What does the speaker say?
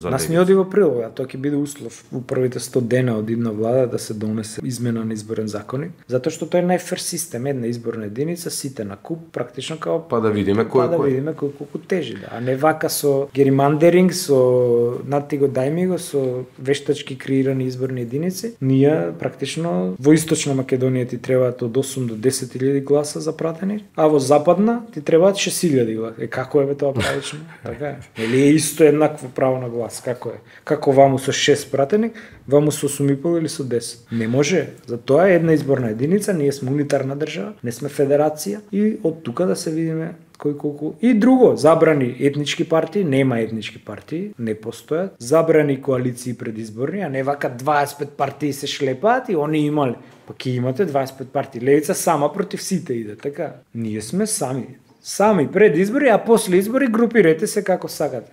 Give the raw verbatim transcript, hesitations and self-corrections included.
Нас ни оди во прилог, а тоа ќе биде услов у првите сто дена од идна влада да се донесе измена на изборен законник, затоа што тој е најфер систем, една изборна единица, сите на куп, практично као па да видиме кој па да кој. видиме кој колку тежи, да. А не вака со геримандеринг, со нати го дајми го, со вештачки креирани изборни единици. Ние практично во Источна Македонија ти требаат од осум до десет илјади гласа за пратеник, а во Западна ти требаат шест илјади гласа. Е како е бе тоа правично? Така е. Или е исто еднакво право на глас? Како е? Како ваму со шест пратеник, ваму со осум и пол или со десет? Не може. Затоа е една изборна единица, ние сме унитарна држава, не сме федерација и од тука да се видиме кој колку. И друго, забрани етнички партии, нема етнички партии, не постојат. Забрани коалиции предизборни, а не вака дваесет и пет партии се шлепаат и они имале. Па ќе имате дваесет и пет партии. Левица сама против сите иде, така? Ние сме сами. Сами пред избори, а после избори групирете се како сакате.